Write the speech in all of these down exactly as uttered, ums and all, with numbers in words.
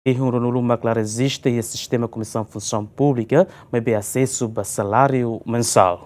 Rihun ruanulu mak la rejista iha sistema Komisaun Funsaun Públika, maibé asesu ba saláriu mensál.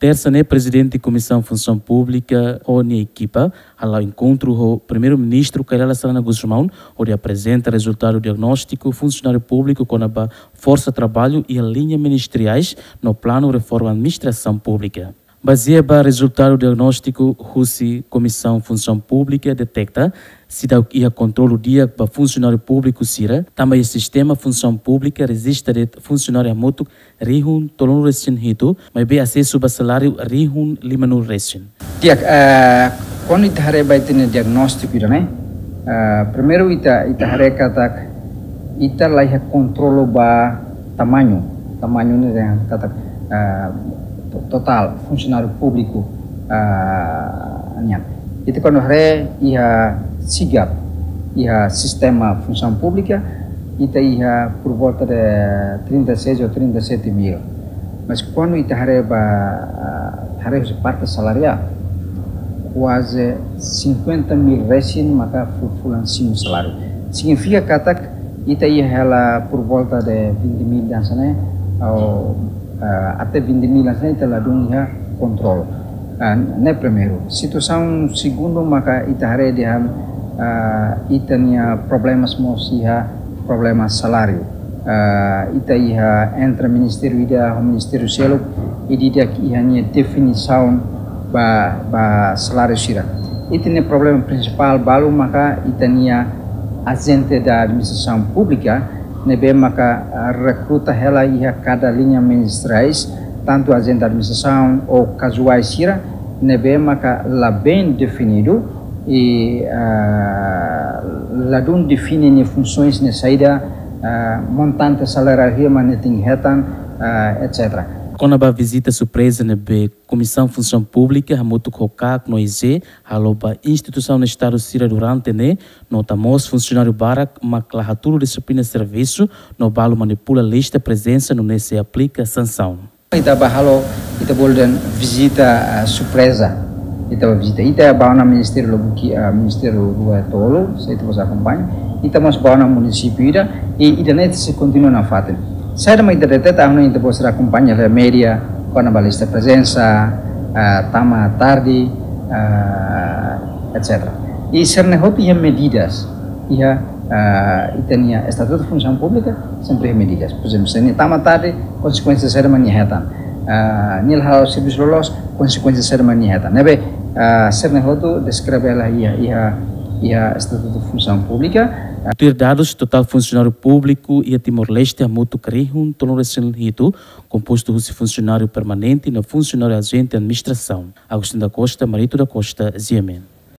Tersa ne'e, Prezidente Komisaun Funsaun Públika ho nia ekipa hala'o enkontru ho Primeiru-Ministru Kay Rala Xanana Gusmão, hodi aprezenta rezultadu diagnóstiku funsionáriu públiku kona-ba forsa traballu iha liña ministeriais no planu reforma administrasaun públika. Bazeia ba rezultadu diagnóstiku husi Komisaun Funsaun Públika deteta seidauk iha kontrolu di'ak ba funsionáriu públiku sira, tanba iha sistema Funsaun Públika rejista de'it funsionáriu hamutuk rihun tolunulu-resin-hitu, maibé asesu ba saláriu rihun limanulu-resin. Di'ak, eh, kuandu ita haree ba ita-nia diagnóstiku ida-ne'e, eh, primeiru ita, ita haree katak ita la iha kontrolu ba tamañu, tamañu ne'e dehan katak, eh, to-, totál funsionáriu públiku, eh, nian. Ita kuandu haree iha sigap, iha sistema Funsaun Públika, ita iha por volta de trinta e seis ou trinta e sete mil. Mas kuandu ita haree ba, ah, haree husi parte salariál, kuaze cinquenta mil resin maka fu-, fulan simu saláriu. Signifika katak ita iha hela por volta de vinte mil hanesan ne'e, ou, ah, até vinte mil hanesan ne'e ita ladún iha kontrolu. Ah, ne'e primeiru. Situasaun segundu maka ita haree dehan, ah, ita-nia problemas mós iha problema saláriu. Ah, ita iha entre ministériu ida ho ministériu seluk, ida-idak iha nia definisaun ba, ba saláriu sira. Ita-nia problema prinsipál balu maka ita-nia ajente da administrasaun públika, ne'ebé maka, ah, rekruta hela iha kada liña ministeriais, tantu ajente administrasaun ou kazuais sira, ne'ebé maka la bem definidu, i, ah, ladún define nia funsoens ne'e saida, ah, montante salariál hira mak nia tenke hetan, ah, et cetera. Kona-ba vizita surpreza ne'ebé Komisaun Funsaun Públika hamutuk ho KAK no I G halo ba instituisaun Estadu sira durante ne'e, nota mós funsionáriu barak mak la hatudu dixiplina servisu no balu manipula lista prezensa nune'e sei aplika sansaun. Ita ba halo, ita bolu dehan vizita, ah, surpreza. Ita ba vizita. Ita ba ona ministériu lubuk, ah, ministériu rua tolu, se ita bele akompaña. Ita mós ba ona munisípiu ida, i ida-ne'e sei kontinua nafatin. Saida mak ita deteta, ha'u hanoin ita bele akompaña iha média, kona-ba lista prezensa, ah, tama tarde, ah, et cetera. I sira-ne'e hotu iha medidas, iha, ah, ita-nia Estatutu Funsaun Públika, sempre iha medidas. Por ezemplu, se nia tama tarde, konsekuénsia saida mak nia hetan. Ah, nia la halo servisu loloos, konsekuénsia saida mak nia hetan. Ne'ebé, ah, sira-ne'e hotu deskreve hela iha, iha, iha Estatutu Funsaun Públika. Tuir dadus, totál funsionáriu públiku iha Timor-Leste hamutuk rihun tolunulu-resin-hitu, kompostu husi funsionáriu permanente no funsionáriu ajente administrasaun. Agostinho da Costa, Marito da Costa, G M N.